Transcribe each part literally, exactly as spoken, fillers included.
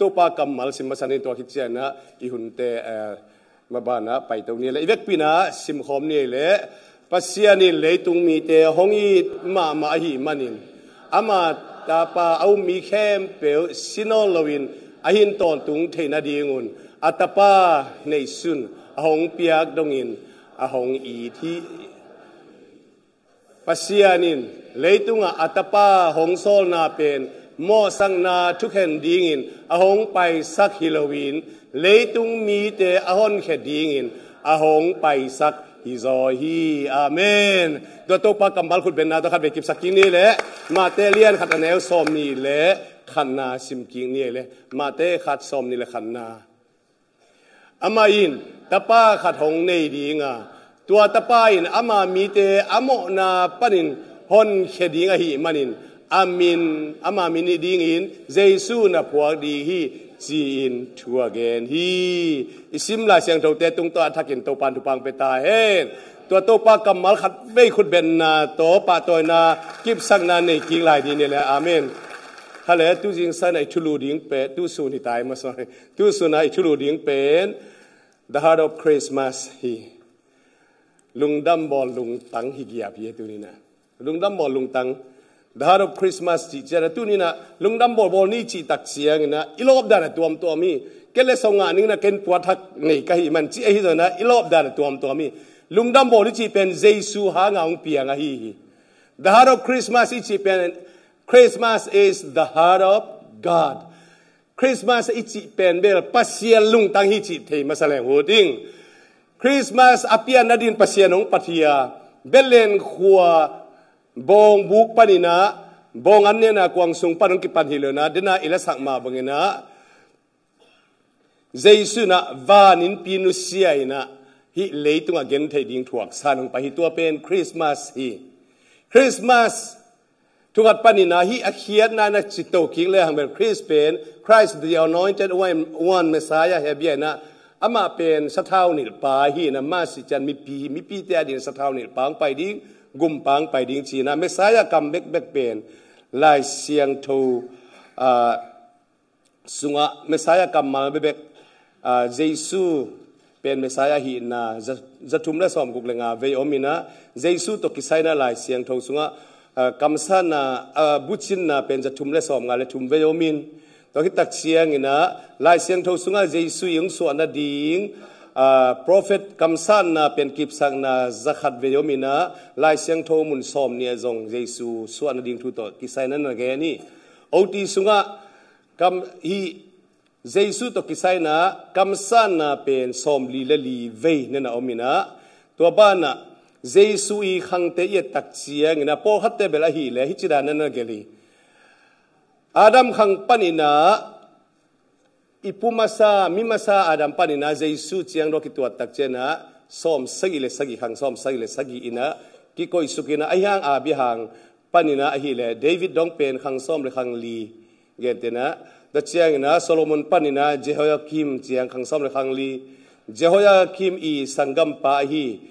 Topa kammal sim masa ni. Tua khit ciangin ah i hunte, eh, mabanah paito ni le, i vekpi-in ah simkhawm ni le. Pasian in leitung mite hong it mahmah ahih manin, ama tapa a um mi khempeuh si nawn loin a hin tawntung theih nadingun a tapa neisun a hong piak dongin a hong it hi. Pasian in leitungah a tapa hong sawlna pen mawhsakna thukhen dingin a hong paisak hi loin, leitung mite a honkhia dingin a hong paisak hi zaw hi. Amen. Tua Topa kammal khutbenna tawh khat vei kipsak kik ni le, Mate lian khat a neu sawm nih le khatna sim kik ni le, Mate khat sawm nih le khatna. Amah in tapa khat hong nei ding a, tua tapa in ama mite a mawhna panin honkhia ding ahih manin, a min, ama min nih dingin Jesu na phuak ding hi, ci-in thu a gen hi. I sim Lai Siangthote tung tawh a thakin Topa in thupha hong pia ta hen. Tua Topa kammal khat vei khutbenna tawh pahtawina kipsakna nei kik lai ding ni le. Amen. Hale, tu zingsang a i thulu ding pen, tu sun hi tai masa. Tu sun a i thulu ding pen The Heart of Christmas hi. Lungdam bawl lungtang hi giap hi, tu ni-in ah. Lungdam bawl lungtang. The Heart of Christmas cih ciangin ah, tu ni-in ah lungdam bawl bawl ni cih tak ciangin ah i lawp dan a tuamtuam hi. Kei le so ngah ning in ah ken puathak nei ka hih man cih ahi zongin ah i lawp dan a tuamtuam hi. Lungdam bawl ni cih pen Jesu hanga hong piang ahi hi. The Heart of Christmas i cih pen, Christmas is the heart of God. Christmas i cih pen bel Pasian lungtang hi cih thei masa leng uh ding. Christmas a pian nadin Pasian hong pia hi a, Bethlehem khua bawngbuk panin ah, bawng an nena kuang sung pan hong kipan hi lo-in ah, den a i lasak mah bangin ah, Jesu in ah van innpi nusia in ah hih leitungah gentheih ding thuak sa-in hong pai hi. Tua pen Christmas hi. Christmas thu khat panin ah hih a khiatna in ah cito kik le hang bel Christ pen, Christ the Anointed One, One Messiah hi a, bia in ah amah pen sathau nilhpa hi in ah, mah sih ciang mipi, mipite adingin sathau nilhpa hong pai ding, gumpa hong pai ding ci-in ah Messiah kam bekbek pen Lai Siangtho, ah, sungah Messiah kammal bekbek, ah, Jesu pen Messiah ahihna za, za thum le sawmguk le nga vei om in ah, Jesu tawh kisai in ah Lai Siangtho sungah, ah, kamsanna, ah, bucinna pen za thum le sawmnga le thum vei om in. Tua khit tak ciangin ah Lai Siangtho sungah Jesu i hong suah nading, ah, prophet kamsanna pen kipsakna za khat vei om in ah, Lai Siangtho mun sawm nih ah zong Jesu suah nading thu tawh kisai in ah na gen hi. O T sungah kam, hih Jesu tawh kisai in ah kamsanna pen sawmli le li vei na na om in ah, tua banah Jesu i khangte i et tak ciangin ah, pawlkhatte bel ahih leh hih ci dan na na gelh hi. Adam khang panin ah, i pu masa, mi masa Adam panin ah Jesu ciang dong kituat tak ciangin ah sawmsagih le sagih, khang sawmsagih le sagih in ah kikoihsuk in ah, ahih hang Abraham panin ah ahih leh David dong pen khang sawm le khang li, gentehna, tua ciangin ah Solomon panin ah Jehoiakim ciang khang sawm le khang li, Jehoiakim i sanggampa ahi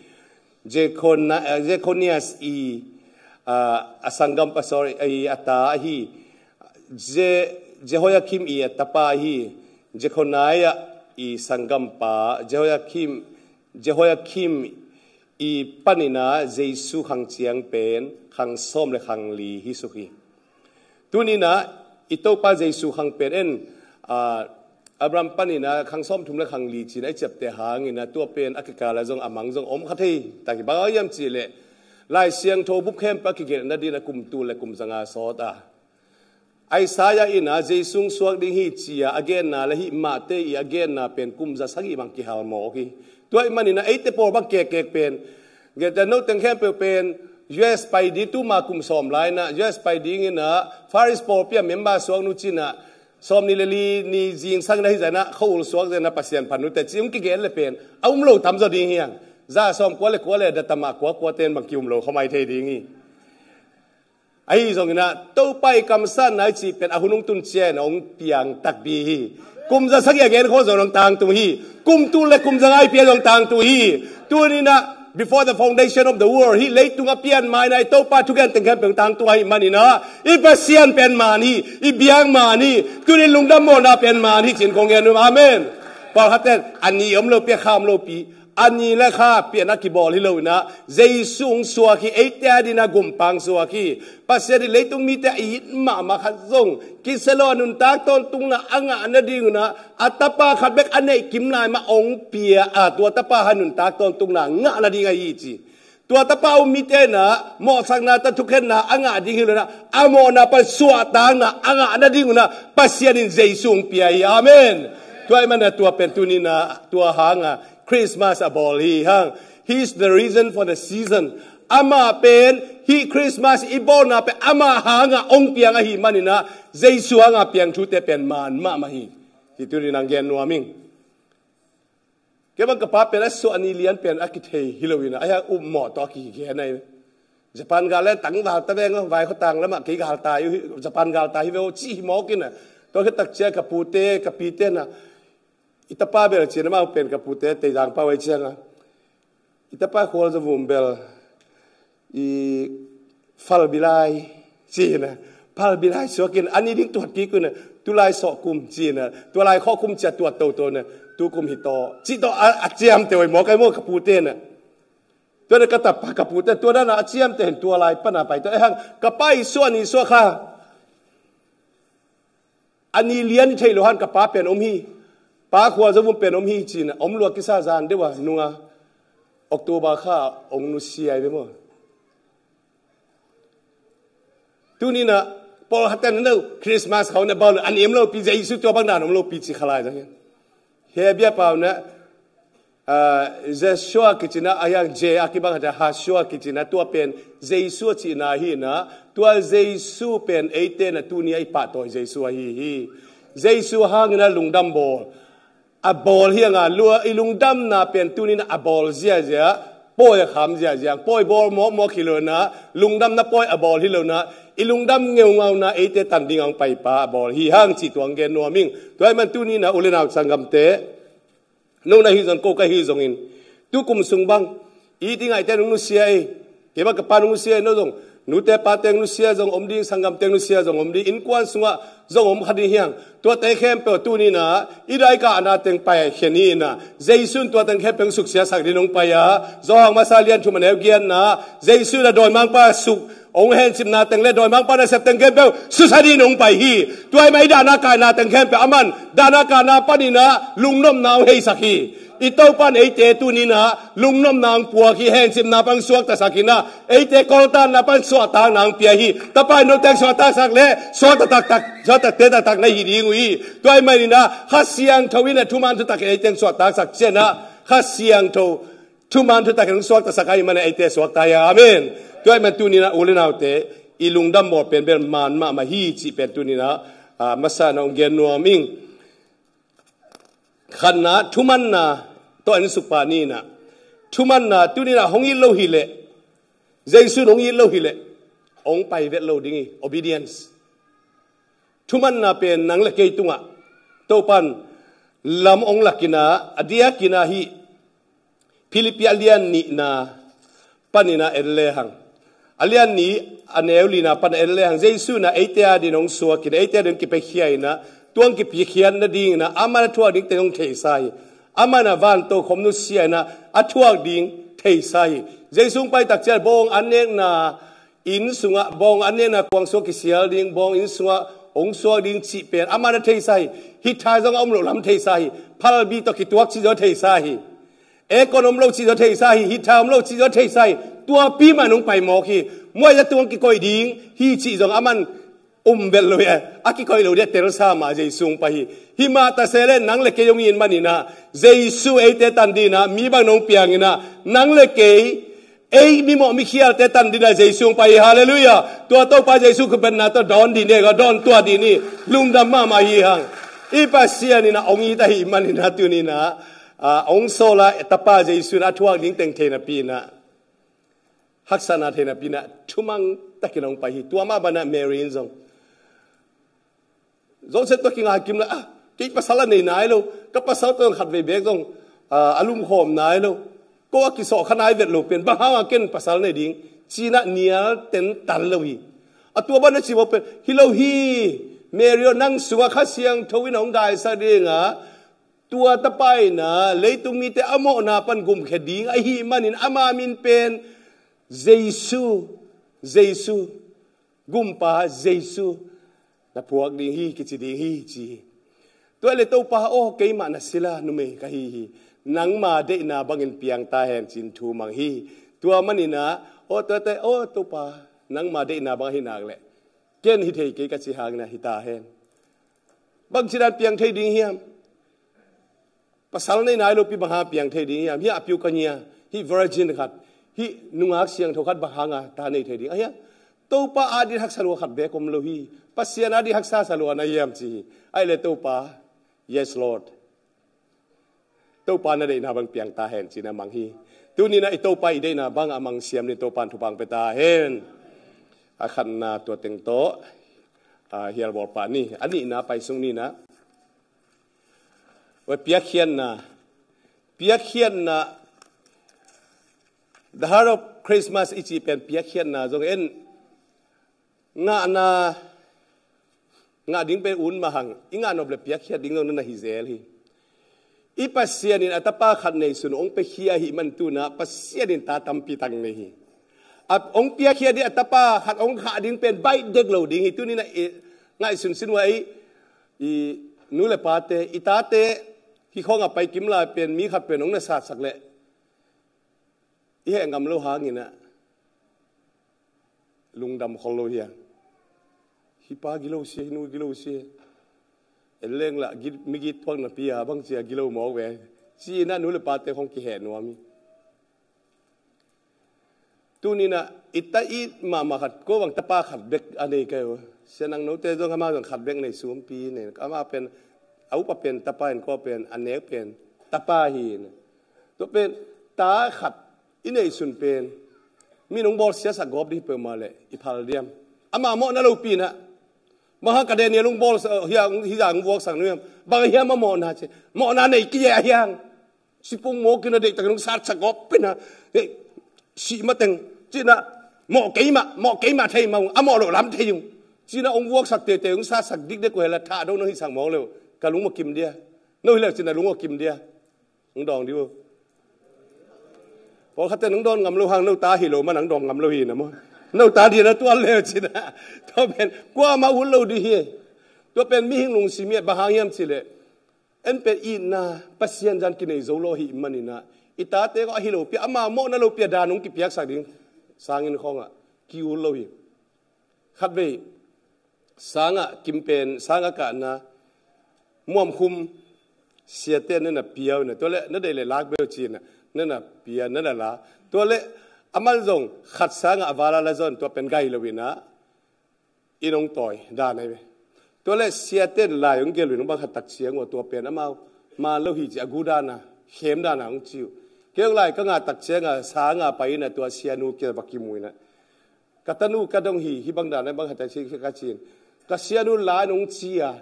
Jekhona-, eh, Jekhonias i, ah, a sanggampa, sorry, i a ta ahi Je-, Jehoiakim i a tapa ahi Jekhoniah i sanggampa, Jehoiakim, Jehoiakim i panin ah Jesu khang ciang pen khang sawm le khang li hi suk hi. Tuni-in ah i Topa Jesu khang pen en, ah, Abraham panin ah khang sawmthum le khang li ci-in ah i ciapteh hangin ah, tua pen a kikal ah zong a mang zong om kha thei. Tua hi bang hang hiam cih leh Lai Siangtho bup khempeuh a kigelh nadin ah kum tul le kum zanga sawt a, Isaiah in ah Jesu hong suak ding hi ci-a a genna le hih Mate i a genna pen kum za sagih bang kihal mawk hi. Tua ahih manin ah eite pawl bang kekkek pen, gentehna, note khempeuh pen U S pai ding, tuma kum sawm lai-in ah U S pai dingin ah Far East pawlpi ah member suak nu ci-in ah, sawmnih le li ni zingsang in ah hih zah in ah khuaul suak zah in ah Pasian phat nu teh ci hong kigen le pen a um lo tam zaw ding hi hang. Za sawmkua le kua le datama kuakua ten bang ki-um lo kha mai thei ding hi. Ahi zongin ah Topa i kamsanna i cih pen a hun hong tun ciangin ah hong piang takpi hi. Kum za sagih a gen khawng zong hong tangtung hi. Kum tul le kum zanga i pia zong tangtung hi. Tuni-in ah Before the foundation of the world, hih leitung a pian ma-in ah i Topa thugen teng khempeuh tangtung ahih manin ah, i Pasian pen man hi, i biak man hi, tuni lungdam mawhna pen man hi ci-in kong gen uh. Amen. Pawlkhat ten a ni om lopi, a kha om lopi, a ni le kha pian a kibawl hi lo-in ah, Jesu hong suak hi, eite adingin a gumpang suak hi. Pasian in leitung mite a it mahmah khat zong kisia lo, a nuntak tawntungna a ngah nadingun ah, a tapa khat bek a neih kim lai mah hong pia a, tua tapa a nuntak tawntungna ngah nading ahi hi ci. Tua tapa um mite in ah mawhsakna tawh thukhenna a ngah ding hi lo-in ah, a mawhna pan suahtakna a ngah nadingun ah Pasian in Jesu hong pia hi. Amen. Tua ahih manin ah tua pen tuni-in ah tua hangah Christmas a bawl hi hang. He is the reason for the season. Amah pen, hih Christmas i bawlna pen amah hangah hong piang ahih manin ah, Jesu hangah piang thute pen man mahmah hi. Hih tuni-in hong gen nuam ing. Kei bang ka pa pen a suah ni lian pen a kithei hi lo-in ah, a hiang upmawh tawh a kigen ahi. Japan gal le tangval ta veng aw, vaikhua tang lamah kei gal tai uh, Japan gal tai hi ve aw, ci hi mawk in ah. Tua khit tak ciang ka pute, ka pite in ah, i tapa bel ci-in ah, amau pen ka pute Teizang pau ahi ciangin ah, i tapa Khualzavum bel i Phalbi lai ci-in ah, Phalbi lai suak in, a ni ding tuat kik un ah, tulai sawh kum ci-in ah, tua lai khawh kum ciang tuat toto in ah, tu kum hi taw, ci taw a, a ciamteh uh hi mawk ahi maw ka pute in ah. Tua in ah ka tapa, ka pute, tua dan a ciamteh in tua lai pan a pai taw. Ahi hang ka pa i suah ni suah kha a ni lian i thei lo hang ka pa pen om hi. Pa Khualzavum pen om hi ci-in ah, om lua kisa zan deuh a nung a, October kha hong nusia hi ve maw. Tuni-in ah pawlkhat ten, no, Christmas khawng na bawl lo, a ni om lopi, Jesu tua bang dan om lopi ci kha lai zang hi. Hebru pau in ah, ah, Jeshua kici-in ah, a hiang Je a kibang khat ciang Hashua kici-in ah, tua pen Jesu a cihna hi-in ah, tua Jesu pen eite in ah tuni-a i pahtawi Jesu ahi hi. Jesu hangin ah lungdam bawl a bawl hi hang a, lua, i lungdamna pen tuni-in ah a bawl ziazia, pawi a kham ziazia, pawi bawl mawkmawk hi lo-in ah, lungdamna pawi a bawl hi lo-in ah, i lungdam ngeungau-in ah eite tan ding a hong paipa a bawl hi hang cih tua hong gen nuam ing. Tua ahih manin tuni-in ah u le nau sanggamte, no na hi zong, ko ka hi zongin, tu kum sung bang i it i ngaihte in hong nusia hi. Kei bang ka pa in hong nusia hi, no zong, nute pate hong nusia zong om ding, sanggamte hong nusia zong om ding, innkuan sungah zong om kha ding hi hang. Tuate khempeuh tuni-in ah i daikahna teng paikhia ni-in ah, Jesu in tua teng khempeuh hong suksiasak dingin hong pai a, Johan masa lian thum a neu giatna, Jesu in ah dawimangpa suk hong hencipna teng le dawimangpa nasep teng khempeuh susia dingin hong pai hi. Tua ahih manin i dahna kahna teng khempeuh aman dahna kahna panin ah lungnopna hong heisak hi. I Topa in eite tuni-in ah lungnopna hong puak hi, hencipna pan suaktasak hi-in ah, eite kawltanna pan suahtakna hong pia hi. Tapa in note suahtaksak leh suakta taktak, suakta taktak na hi ding uh hi. Tua ahih manin ah Kha Siangtho in ah thuman thutak in eite suahtaksak ciangin ah, Kha Siangtho thuman thutak in hong suaktasak ahih manin eite suakta hi. Amen. Tua ahih manin tuni-in ah u le naute, i lungdam bawl pen bel man mahmah hi cih pen tuni-in ah, ah, masa-in ah hong gen nuam ing. Khatna, thumanna tawh en suk pah ni-in ah, thumanna tuni-in ah hong it lo hi leh, Jesu in hong it lo hi leh, hong pai vet lo ding hi, obedience. Thumanna pen nang le kei tungah Topa in lam hong lak-in ah, a diakin ah hih Philippi a lian nihna panin ah en lehang, a lian nih a neu lina pan en lehang, Jesu in ah eite adingin hong suak in, eite adingin hong kipiakhia in ah, tua hong kipiakhia nadingin ah, aman a thuak ding teng hong theisa hi. Aman ah vantokhom nusia in ah, a thuak ding theisa hi. Jesu hong pai tak ciang bawng an nekna inn sungah, bawng an nekna kuang sungah kisial ding, bawng inn sungah hong suak ding cih pen aman a theisa hi. Heater zong a om loh lam theisa hi. Phalbi tawh kituak cih zong theisa hi. Aircon om lo cih zong theisa hi, heater om lo cih zong theisa hi. Tuapi mah in hong pai mawk hi. Muaizah tung hong kikoih ding hi cih zong aman um vet lo hi. A kikoih lo ding a telsa mah Jesu hong pai hi. Hih mah ta se leh nang le kei hong it manin ah, Jesu eite tan dingin ah mi bangin hong piangin ah, nang le kei, ei mimawh mikhialte tan dingin ah Jesu hong pai hi. Halleluiah. Tua Topa Jesu khutbetna tawh dawn dih ni, dawn tuah dih ni. Lungdam mahmah hi hang. I Pasian in ah hong it ahih manin ah tuni-in ah, ah, hong sawl a, Tapa Jesu in ah a thuak ding teng thei napi-in ah, haksatna thei napi-in ah, thumang takin hong pai hi. Tua mah banah Mary in zong, Joseph tawh kinga kim la, ah, kei pasal a nei nai lo, ka pasal tawh khatvei beek zong, ah, a lumkhawm nai lo. Ko a kisawh kha nai vet lo pen, bang hanga ken pasal nei ding, ci-in ah nial tentan lo hi. A tua bang na ci mawk pen, hi lo hi, Mary aw, nang sungah Kha Siangtho in hong gaisak ding a, tua tapa in ah leitung mite a mawhna pan gumkhia ding ahih manin ama min pen Jesu, Jesu, Gumpa Jesu na phuak ding hi, kici ding hi, ci hi. Tua leh Topa aw, keimah na sila numei ka hi hi. Nangma deihna bangin piang ta hen, ci-in thu mang hi. Tua manin ah, aw, tua teh, aw, Topa, nangma deihna bang ahi nak leh ken hi thei kei, ka cih hangin ah hi ta hen. Bangci dan piang thei ding hiam? Pasal nei nai lopi bang hanga piang thei ding hiam? Hih a piu ka ngia, hih virgin khat, hih nungak siangtho khat bang hanga ta nei thei ding a hiam? Topa ading haksa lua khat beek om lo hi. Pasian ading haksa sa lua na hiam, ci hi. Ahih leh Topa, yes Lord, Topa na deihna bang piang ta hen, ci-in ah mang hi. Tuni-in ah i Topa i deihna bang a mang siam ni, Topa in thupha hong pia ta hen. A khatna tua teng tawh, a, hial bawl pah ni. A nihna pai sung ni-in ah, tua piakkhiatna, piakkhiatna, the heart of Christmas i cih pen piakkhiatna zong en, ngahna, ngah ding pen un mah hang, i ngah nop leh piakkhiat ding zong na hi zel hi. I Pasian in a tapa khat neisun hong piakhia ahih man tu-in ah Pasian in ta tampi tak nei hi. A hong piakhia ding, a tapa khat hong khah ding pen baih dek lo ding hi. Tuni-in ah i ngaihsun sin uh a, i, i nu leh pate, i tate, hih khawng a pai kim lai pen mi khat pen hong na satsak leh i heh ngam lo hangin ah lungdam khol lo hi a. Hih pa gilo sia, hih nu gilo sia. En leng lah, git, migit thuak napi a, bangci a gilo mawk ve, ci-in ah nu leh pate khawng kiheh nuam hi. Tuni-in ah i ta it mahmah khat, ko bang tapa khat bek a nei ka hi uh. Sia, nang note zong amah zong khat bek nei, sumpi nei. Amah pen, a upa pen tapa in, ko pen, a nek pen tapa hi. Tua pen, ta khat i neihsun pen, mi in hong bawlsiasak gawp ding hi peuhmah leh i phal diam? Ama mawhna lopi-in ah, bang hang ka Daniel hong bawl, hih a, hih a hong vuaksak nuam, bang hiam a mawhna ci. Mawhna nei kei a hiang. Sipung mawk in a deihtakin hong satsak gawp in a, eh, sih mateng, ci-in ah, mawh keimah, mawh keimah thei mah ung, a mawh loh lam thei ung, ci-in ah hong vuaksak teitei, hong satsak dikdek uh hi leh, thahdo na hihsak mawk leh uh, ka lung mah kim dia. No hi leh uh ci-in ah lung mah kim dia. Hong dawng dih uh. Pawlkhatte in hong dawn ngam lo hang, no ta hi lo man hong dawng ngam lo hi na maw. No ta ding na tuan leh uh ci-in ah, tua pen kuamah ut lo ding hi. Tua pen mihing lungsim hi a, bang hang hiam cih leh, en pen itna, Pasian zan kinei zo lo ahih manin ah, i tate khawng a hi lopi a, ama mawhna lopi a dan hong kipiaksak ding sangin khawng ah ki-ut lo hi. Khatvei, sang a kim pen, sang a kahna, muamkhum, siate na na pia uh na, tua leh na deih leh lak beh uh ci-in ah, na na pia, na na la. Tua leh, aman zong khat sang a a vala la zon, tua pen gai lo-in ah, inn hong tawi dan ahi ve. Tua leh siate in lai hong gelh uh, hong bang khat tak ciang uh a, tua pen amau man lo hi ci, a gu dan a, khem dan a hong ci uh. Kei zong lai ka ngah tak ciang a, sang a pai-in ah tua sianu kiang va kimu-in ah, ka tanu ka dong hi, hih bang dan a bang khat tak ciang ka ci-in, ka sianu la-in hong ci a,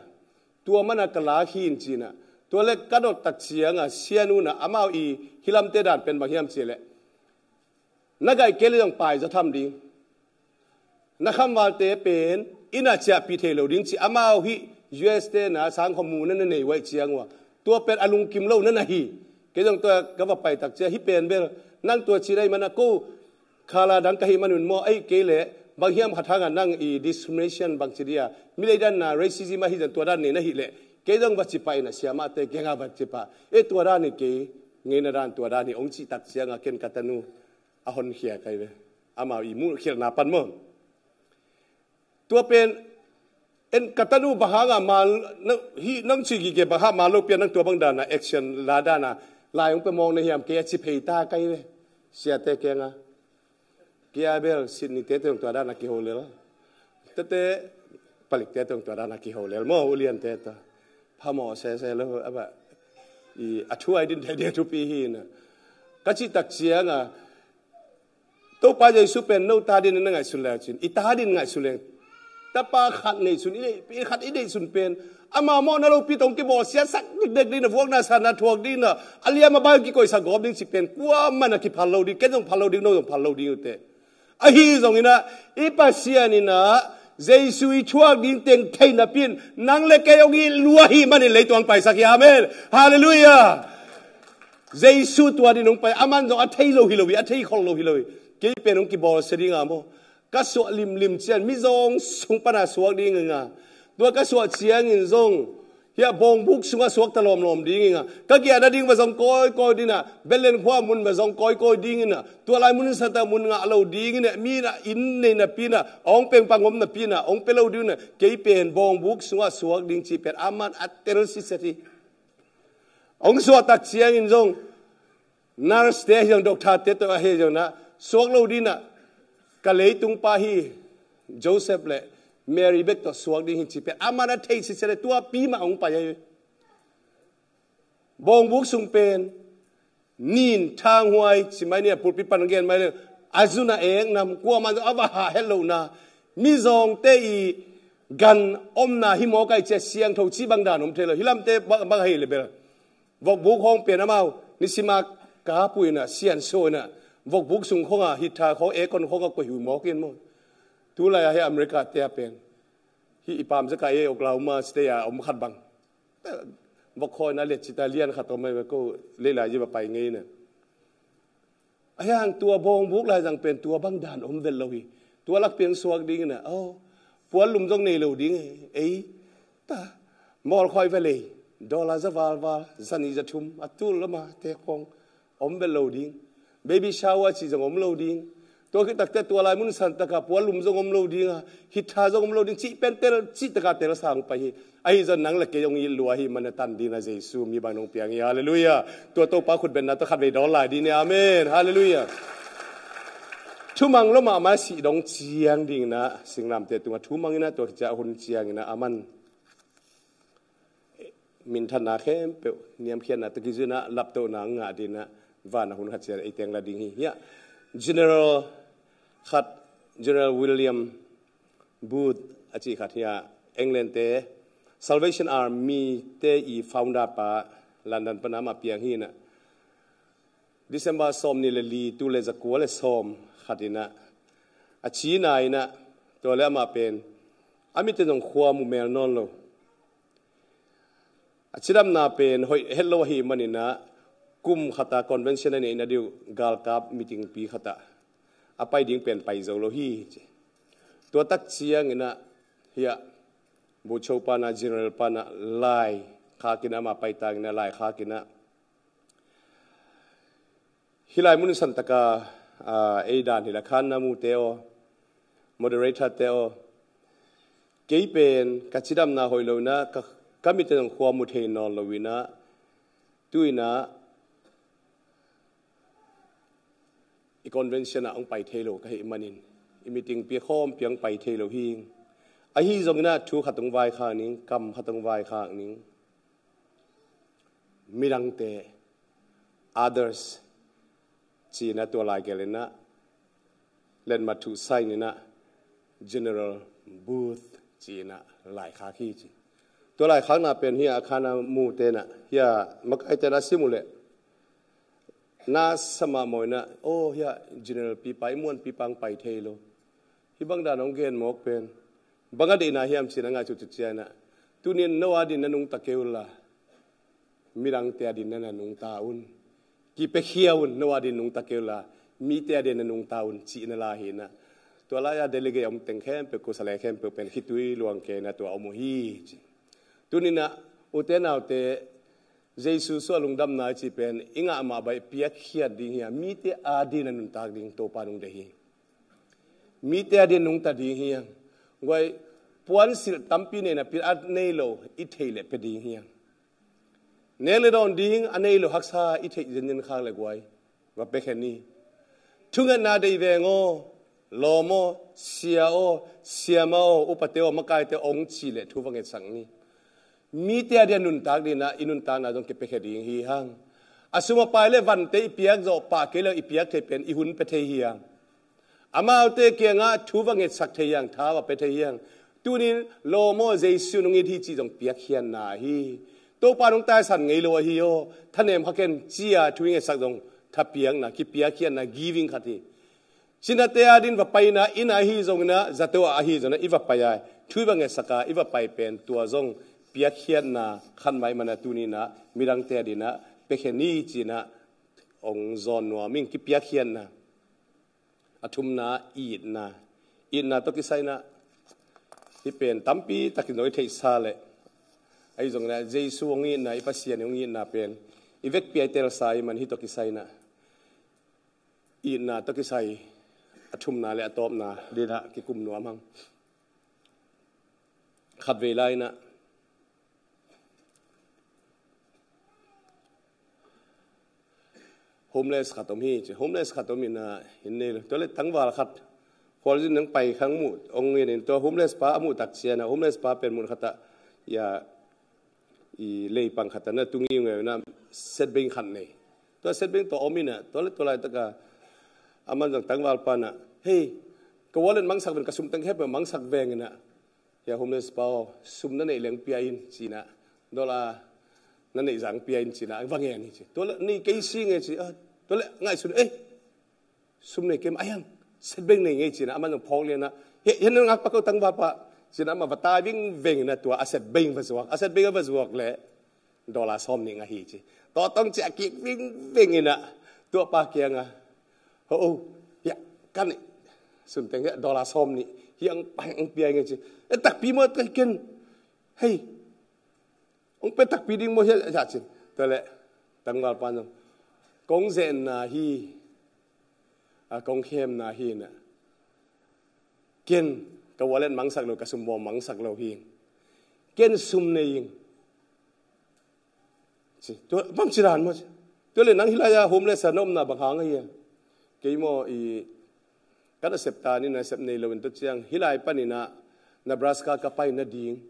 tua man a ka lak hi in ci-in ah. Tua leh ka dot tak ciang a, sianu in ah, amau i hih lamte dan pen bang hiam cih leh, na gaih kei leh zong pai zaw tham ding. Na khamvalte pen inn ah ciahpih thei lo ding ci, amau hih U S te na sangkhua mu na na nei uh ahih ciang uh a, tua pen a lungkim lo na na hi. Kei zong tua ka va pai tak ciang, hih pen bel nang tua ci na hih man a, ko khala dang ka hih man un maw, ahih kei leh bang hiam khat hang a nang i discrimination bang ci dih a, milei dan a racism ahi zong tua dan nei na hih leh, kei zong va ci pah in ah, siamahte kiang ah va ci pah. Eh, tua dan hi kei, ngeina dan tua dan hi, hong cih tak ciang a, ken ka tanu a honkhia ka hi ve. Amau i muhkhialhna pan maw. Tua pen, en ka tanu bang hang a man, na, hih nang cih gige bang hang a man lopi a nang tua bang dan a action la dan a, lai hong pia mawk na hiam, kei a ci phei ta ka hi ve. Siate kiang a, kei a bel Sydney te tawh tua dan a kiho lel. Tete, Palik te tawh tua dan a kiho lel maw, uliante tawh. Phamawh sese lo, a bah, i, a thu a i din thei ding thupi hi na. Ka cih tak ciang a, Topa Jesu pen no ta dingin na ngaihsun leh cin, i ta dingin ngaihsun leng, Tapa khat nei sun, i nei, i khat i nei sun pen, ama mawhna lopi tawh hong kibawlsiatsak dekdek ding a, vuakna sana thuak ding a, a liam a bang kikoihsak gawp ding cih pen kuamah na kiphal lo ding, ken zong phal lo ding, no zong phal lo ding uh teh. Ahi zongin ah, i Pasian in ah, Jesu i thuak ding teng thei napi in, nang le kei hong it lua ahih manin leitung hong paisak hi, amen. Halleluiah. Jesu tua ding hong pai, aman zong a thei lo hi lo hi, a thei khol lo hi lo hi. Kei pen hong kibawlsia ding a maw. Ka suah limlim ciang, mizawng sung pana suak ding ing a. Tua ka suah ciangin zong, hiah bawngbuk sungah suak ta lawmlawm ding ing a. Ka giahna ding va zong kawikawi ding a, Bethlehem khua mun va zong kawikawi ding in a. Tua lai mun santa mun ngah lo ding in a, mi in a inn nei napi in a, a hong pengpang om napi in a, hong pia lo ding in a, kei pen bawngbuk sungah suak ding cih pen, aman a tel siset hi. Hong suah tak ciangin zong, nurse te ahi zong, doctor te tawh ahi zong in a, suak lo ding in a, ka leitung pa hi, Joseph le Mary bek tawh suak ding hi cih pen, aman a thei siset le tua pi mah hong pai ahi. Bawngbuk sung pen, nin thanghuai, ci mai ni a, pulpit pan gen mai le, a zun a ek nam, kuamah zong a va hah het lohna, mizawngte i gan omna hi mawk ai cia siangtho cih bang dan om thei lo, hi lamte bang, bang hei le bel. Vokbuk khawng pen amau, nisim a kapu in a, siansuah in a, vokbuk sung khawng a, hih tha khawng, aircon khawng a koih hui mawk in maw. Tulai a hi America te a pen. Hih i pam zaka e Oklahoma State a om khat bang. Vok khawi na liat cita lian khat om mai ko leilai ji va pai ngei na. A hiang tua bawngbuk lai zang pen tua bang dan om vel lo hi. Tua lak piang suak ding na. Oh, puan lum zong nei lo ding e. Ei, ta. Mawl khawi ve lei. Dollar za val val. Za ni za thum. A tul lama te khong. Om vel lo ding. Baby shower cih zong om lo ding. Tua khit takte tua lai mun san taka puan lum zong om lo ding a. Hih tha zong om lo ding. Cih pen tel, cih taka tel sang pai hi. Ahi zong nang le kei hong it lua hi, man a tan ding a Jesu mi bang nong piang hi. Halleluiah. Tua Topa khutbetna tawh khat vei dawn lai ding ni. Amen. Halleluiah. Thumang lo mahmah sih dong ciang ding na, singlamte tungah thumang in a tua kicia hun ciang in a aman minthanna khempeuh, niamkhiatna tawh kizui in a laptohna ngah ding in a van a hun khat ciang ei teng la ding hi. Hiah General khat, General William Booth a cih khat hi a, England te Salvation Army te i founder pa, London pana amah piang hi in a, December sawm ni le li, tu le zakua le sawm khat in a, a cina in a, tua le amah pen a mite zong khua mu mel nawn lo. A cidamna pen hoih het lo ahih manin a, kum khat a convention a neihna ding galkap meeting pi khat a a pai ding pen pai zo lo hi, ci. Tua tak ciang in a, hiah Bogyoke pana, General pana lai khak in a, amah pai tang in a lai khak in a, hih lai mun san taka, ah, ei dan hi la khan na mu te aw, moderator te aw, kei pen ka cidamna hoih lo in a, ka, ka mite zong khua mu thei nawn lo in a, tu in a i convention ah hong pai thei lo ka hih manin, i meeting pi khawm pi hong pai thei lo hi. Ahi zong in a thu khat hong vaikhak ning, kam khat hong vaikhak ning. Midangte, others, ci in a tua lai gel in a, letmat thu sign in a, General Booth ci in a lai khak hi, ci. Tua lai khakna pen hiah a khan a mu te in a, hiah makai te in a sim uh leh, na sa mahmah in a, oh, hiah General pipa, i muan pipa hong pai thei lo. Hih bang dan hong gen mawk pen bang a deihna hiam ci in a ngaihsut ciang in a, tuni in no a ding na nungta kei un la, midangte a ding na nungta un. Kipiakhia un, no a ding nungta kei un la, mite a ding na nungta un, ci in a la hi in a. Tua lai a delegate a om teng khempeuh, kusa le khempeuh pen khitui luang kei in a tua om uh hi, ci. Tuni in a, ute naute, Jesu suah lungdamna i cih pen i ngah mah bang i piakkhiat ding hiam, mite a ding a nuntak ding Topa nung deih hi. Mite a ding nungta ding hiam. Guai, puansilh tampi nei napi a nei lo i theih leh pia ding hiam. Nek le dawn ding a nei lo haksa i theih zenzen khak leh guai, va pia khen ni. Thungetna deih veng aw, lawm aw, sia aw, siama aw, upate aw, makaite aw hong cih leh thu va ngetsak ni. Mite a ding a nuntak ding in a, i nuntakna zong kipiakhia ding hi hang. A sum a pai le vante i piak zawh pah kei lo, i piak thei pen i hun pia thei hi hang. Amaute kiangah thu va ngetsak thei hi hang, tha va pia thei hi hang. Tunin lawm aw, Jesu nong it hi cih zong piakkhiatna hi. Topa nong taisan ngei lo ahi aw, thanem kha ken ci-a thu i ngetsak zong thapiakna, kipiakkhiatna, giving khat hi. Cinate adin va paina, inn ah ahi zongina, zato ah ahi zongina i va pai a, thu i va ngetsak a, i va pai pen tua zong piakkhiatna khat mah ahih mana tuninah midangte adinah piakhia ni cinah hong zawn nuam ing. Kipiakkhiatna. A thumna itna. Itna tawh kisai inah hih pen tampi takin zong i theihsa leh ahi zongin ah Jesu hong itna, i Pasian hong itna pen i vekpi-a i telsa ahih man hih tawh kisai inah itna tawh kisai a thumna le a tawpna dinah kikum nuam hang. Khatvei lai inah homeless khat om hi ci. Homeless khat om inah hin nei lo. Tua le tangval khat khualzin nang pai khang muh hong in, tua homeless pa a muh tak cianah homeless pa pen mun khatah ia i leipang khatah na tungi ngeu inah setbeng khat nei. Tua setbeng tua om inah tua le tua laitaka aman zong tangval panah, "Hei, ka wallet mangsak ven, ka sum teng hep mangsak veng inah, hia homeless pa aw, sum na neih leng pia in," cinah, "Dollar na neih zang pia in," cinah va ngen hi ci. "Tua le nei kei si nge," ci. "Ah, tua le ngaihsun, eh, sum nei kei mah, ahiang setbeng nei ngei," cinah aman zong phawk lianah, "Hia, hia na ngak pa ko tangval pa," cinah amah va tai vingveng inah tua a setbeng va zuak. A setbeng a va zuak leh dollar sawm nih ngah hi ci. Tua tawh ciah kik vingveng inah tua pa kiangah, "Ho, oh, hia, ka neih sum teng hia dollar sawm nih, hia hong pia ing e," ci. "Eh, takpi maw, ken, hei, hong pia takpi ding maw hia?" ci. Tua le tangval pan zong, "Kong zenna hi, a, kong khemna hi inah, ken ka wallet mangsak lo, ka sum bawm mangsak lo hi. Ken sum nei ing," ci. "Tua bang ci dan maw?" ci. "Tua le nang hih lai-a homeless a na omna bang hang ahi a?" "Kei maw, i, ka nasep ta ni, nasep nei lo in tua ciang hih lai paninah Nebraska ka pai nading,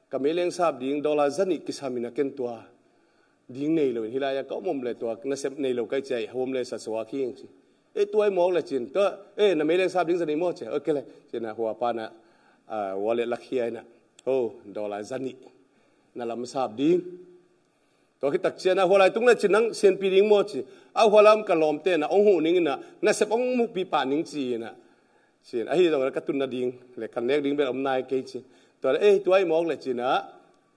ka meileng sap ding dollar zanih kisam inah ken tua ding nei lo in hih lai-a ka om om le tua nasep nei lo ka hih ciah homeless a suak hi ing," ci. "Eh, tua i mawk le," cin. "Tua, eh, na meileng sap ding zanih maw?" ci. "Ok le," cinah hua panah, ah, wallet lakhia inah, "Oh, dollar zanih na lam sap ding. Tua khit tak cianah hua lai tung le," cin, "nang sianpi ding maw?" ci. "A, hua lai om ka lawmte na hong huh ning inah nasep hong mukpi pah ning," ci inah, cin. "Ahi zongin ka tun nading le ka nek ding bel om nai kei," ci. Tua le, "Eh, tua i mawk le," cinah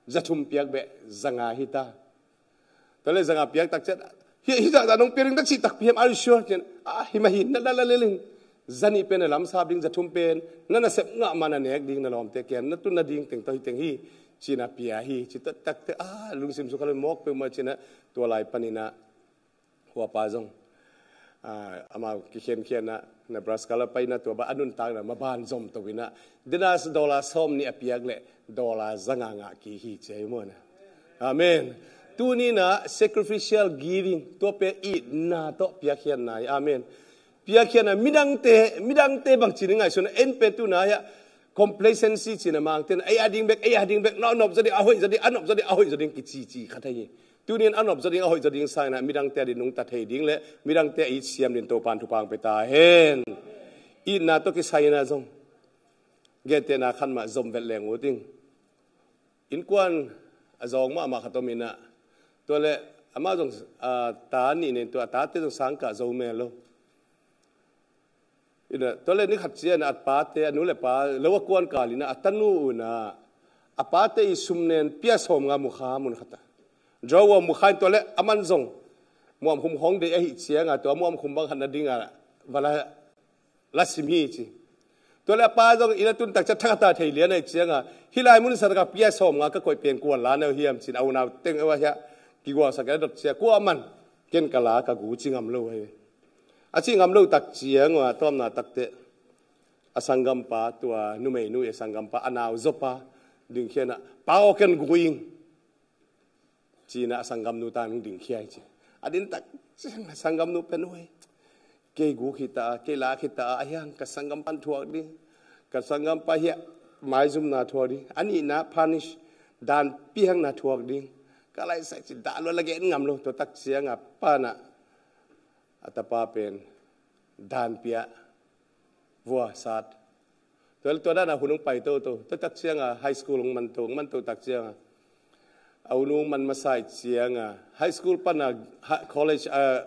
za thum piak beh, za nga hi ta. Tua le za nga piak tak ciah, "Hih, hih zahzah nong pia ding ta cih takpi hiam? Are you sure?" cin. "Ah, hi mah hi, na la la lel in. Zanih pen na lam sap ding, za thum pen na nasep ngah ma na nek ding, na lawmte kiang na tun nading teng tawh hi teng hi," cinah pia hi. Ci taktak teh, ah, lungsim sung kha lo, mawk peuhmah cinah tua lai paninah hua pa zong, ah, amau kikhenkhiatna Nebraska la paina tua bang a nuntakna maban zom to inah, dena dollar sawm nih a piak leh dollar za nga ngah kik hi ci ahi maw na. Amen. Tuninah sacrificial giving, tua pen itna tawh piakkhiatna hi. Amen. Piakkhiatna, midangte, midangte bang ci ni ngaihsun, en pen tuna hiah complacency cina mangten, "Ei a ding bek, ei a ding bek, na nop zaw ding, a hoih zaw ding, a nop zaw ding, a hoih zaw ding," kicici khat ahi hi. Tunin a nop zaw ding, a hoih zaw ding sangin ah midangte a ding nungta thei ding le midangte a it siam ding Topan thupha hong pia ta hen. Itna tawh kisai inah zong gentehna khat mah zom vet leng uh ding. Innkuan a zawng mahmah khat om inah, tua le amah zong, ah, ta nih nei, tua a tate zong sangkah zo mel lo. Inah, tua le ni khat ciang a pate, a nu le pa lo a kuan kal inah a tanu unah a pate i sum nen pia sawm nga mu kha mun khat ah. Drawer mu kha in, tua le aman zong muamkhum khawng deih ahih ciangah tua muamkhum bang khat na dingah va la, la sim hi ci. Tua le a pa zong inn a tun tak ciang thakhat a thei lian ahih ciangah, "Hih lai mun sa takah pia sawm nga ka koih pen kuan la na uh hiam?" cin a unau teng uh a hiah kigualsak a dot ciang, "Kuaman, ken ka la ka gu ci ngam lo hi," a cih ngam lo tak ciang uh a tawpna takteh a sanggampa, tua numeinu i a sanggampa, a nau zawpa dingkhia inah, "Pa aw, ken gu ing," cinah a sanggamnu tang dingkhia hi ci. A din tak ciang a sanggamnu pen, "Ui, kei gu khita, kei la khita, a hiang ka sanggampa thuak ding, ka sanggampa hiah maizumna thuak ding, a nihna punish, dan piakna thuak ding ka laisak," ci. Dah lua la gen ngam lo. Tua tak ciangah panah a tapa pen dan pia, vua sat, Tua, tua dan a hun hong pai toto. Tua tak ciang a high school hong man to, hong man to tak ciang a, a u nu hong man masa i ciang a, high school pan a, ha-, college a,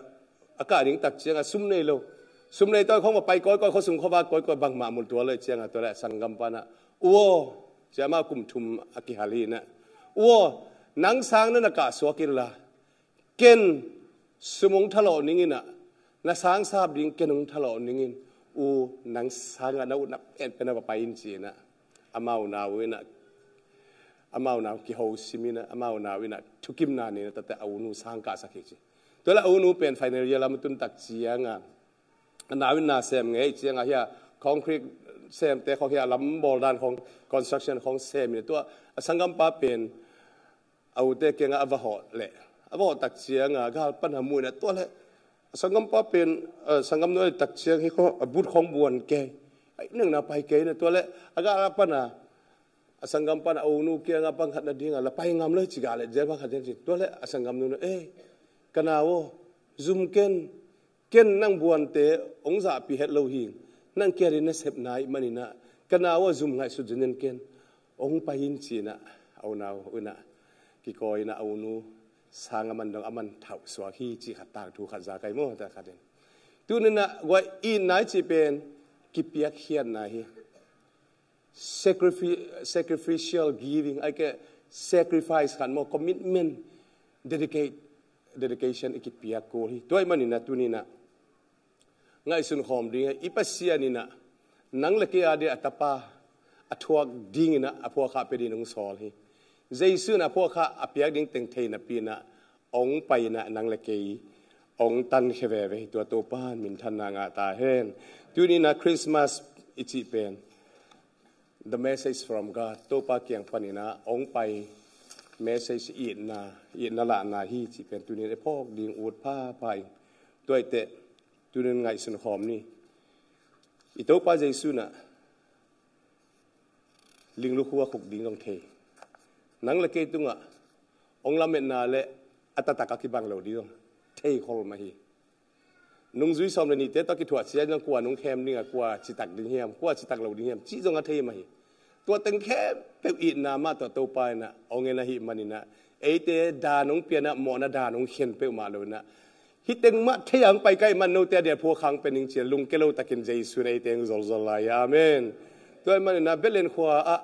a kah ding tak ciang a, sum nei lo. Sum nei tawh khong va pai kawikawi, khuasung khuavak kawikawi, bangmah mu lo, tua lo i ciang a, tua leh a sanggam pan a, "U aw," ci-a, amah kum thum a kihal hi in ah, "U aw, nang sang na na kah suak inla, ken sum hong thalawh ning in ah, na sang sap ding ken hong thalawh ning in, u, nang sang ah na utna penpen ah va pai in," ci in ah, amau nau in ah, amau nau kiho sim in ah, amau nau in ah thukimna nei in ah, tua teh a u nu sang kahsak hi ci. Tua leh a u nu pen final year lam a tun tak ciang a, a nau in na sem ngei ciang a, hia concrete semte khong, hia lam bawl dan khong, construction khong sem in ah, tua a sanggampa pen a ute kiangah a va hawh leh, a va hawh tak ciang a, gal pan a mu in ah, tua leh a sanggampa pen, a, sanggam nu a tak ciang hi khong, a boot khong buan kei, a inn ah na pai kei in ah, tua leh a gal pan a, a sanggam pan a u nu kiangah bang khat na ding a, "La pai ngam lo hi," ci, "Gal leh zel bang khat zel," ci. Tua leh a sanggam nu in ah, "Ei, ka nau aw, zum ken, ken nang buante hong zahpih het lo hi, nang kia ding na sepna ahih man in ah, ka nau aw, zum ngaihsut zen in ken, hong pai in," ci in ah, a u nau in ah kikawi in ah, a u nu sang a man dong a man thauh suak hi, cih khat, tangthu khat za kai maw, ta khat in. Tuni in ah guai, itna i cih pen kipiakkhiatna hi. Sacrifi-, sacrificial giving, ahih kei leh sacrifice khat maw, commitment, dedicate, dedication i kipiak kul hi. Tua ahih man in ah tuni in ah ngaihsun khawm ding hi. I Pasian in ah nang leh kei a dia a Tapa a thuak ding in ah a phuakkhah pia ding in hong sawl hi. Jesu in a phuakkhah a piak ding teng thei napi in ah hong pai in ah nang leh kei hong tankhia veve hi. Tua Topa in minthanna ngah ta hen. Tuni in ah Christmas i cih pen, the message from God, Topa kiang pan in ah hong pai message, itna, itna lahna hi cih pen tuni in ah i phawk ding ut phapha ing. Tua hi teh, tuni in ngaihsun khawm ni. I Topa Jesu in ah linglukhua khuk ding zong thei. Nang leh kei tungah hong lametna leh a taktak a kibang lo ding zong thei khol mah hi. Nungzui sawm leh nihte tawh kithuah ciang zong kua nung khem ding a, kua citak ding hiam, kua citak lo ding hiam, cih zong a thei mah hi. Tua teng khempeuh itna mah tawh Topa in ah hong en ahih man in ah, eite dan hong pia in ah, mawhna dan hong khen peuhmah lo in ah, hih teng mah thei a hong pai ka hih man, note a dia phuakkhah hong pia ning ci-a lungkia lo takin Jesu in eite hong zolzol lai hi. Amen. Tua ahih man in ah Bethlehem khua ah